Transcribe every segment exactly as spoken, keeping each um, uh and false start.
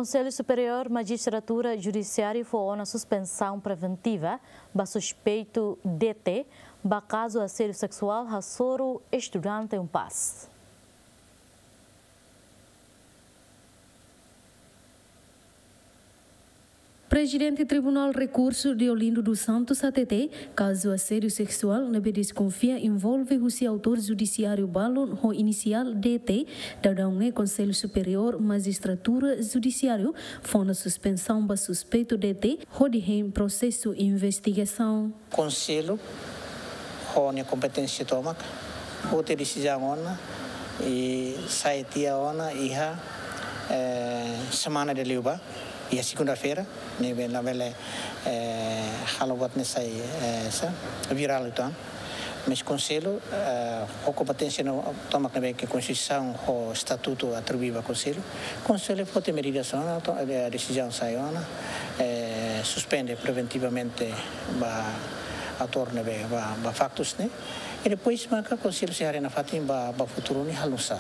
Konsellu Superiór Majistratura Judisiáriu fó ona suspensaun preventiva ba suspeitu D T ba kazu asédiu seksuál hasoru estudante UNPAZ. Prezidente Tribunál Rekursu Deolindo dos Santos hatete, kazu asédiu seksuál ne'ebé deskonfia envolve husi autór judisiáriu balun ho inisiál D T, daudaun ne'e Konsellu Superiór Majistratura Judisiáriu fó ona suspensaun ba suspeitu D T hodi hein prosesu investigasaun. Konsellu ho nia kompeténsia tomak foti desizaun ona i sai tiha ona iha, eh, semana ida liubá, iha segunda-feira, ne'ebé labele, eh, halo buat ne'e sai, eh, sa, virál uitoan. Mas Konsellu, eh, ho kompeténsia no tomak ne'ebé ke Konstituisaun ho Estatutu atribui ba Konsellu, Konsellu foti medidas ona, to-, eh, desizaun sai ona, eh, suspende preventivamente ba autór ne'ebé, ba, ba faktus ne'e. I depois maka Konsellu sei haree nafatin ba, ba futuru ne'e halo nu'usá.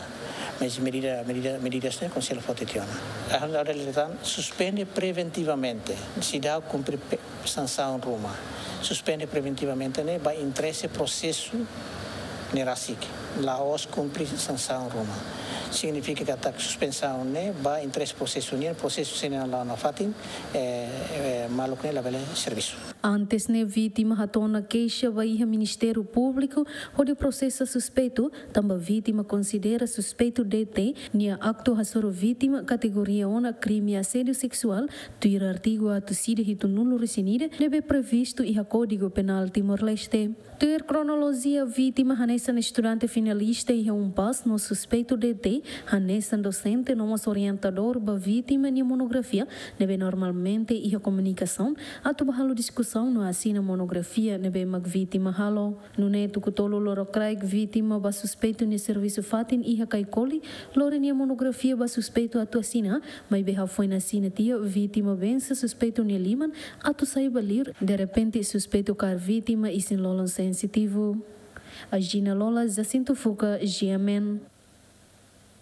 Mas medida, medida, medidas ne'e Konsellu foti tiha ona. Ha'u hakarak dehan suspende preventivamente, seidauk kumpre pe-, sansaun ruma. Suspende preventivamente ne'e ba interese prosesu ne'e rasik. La'ós kumpre sansaun ruma. Signifika katak suspensaun ne'e ba interese prosesu nian, prosesu se ne'e la'o nafatin, eh, eh, maluk ne'e labele servisu. Antes ne'e vítima hato'o ona keixa ba iha Ministériu Públiku hodi prosesa suspeitu, tanba vítima konsidera suspeitu D T nia aktu hasoru vítima kategoria ona krime asédiu seksuál, tuir artigu atus ida hitunulu-resin-ida ne'ebé previstu iha Kódigu Penál Timor-Leste. Tuir kronolojia, vítima hanesan estudante finalista iha UNPAZ no suspeitu D T hanesan dosente no mós orientadór ba vítima nia monografia ne'ebé normalmente iha komunikasaun atu ba halo diskusaun no asina monografia ne'ebé mak vítima halo. Nune'e tuku tolu lorokraik vítima ba suspeitu nia servisu fatin iha Kaikoli, lori nia monografia ba suspeitu atu asina, maibé hafoin asina tiha vítima bensa suspeitu nia liman atu sai ba liur, derrepente suspeitu kaer vítima isin-lolon sensitivu. Agina Lola, Jacinto Fuca, G M N.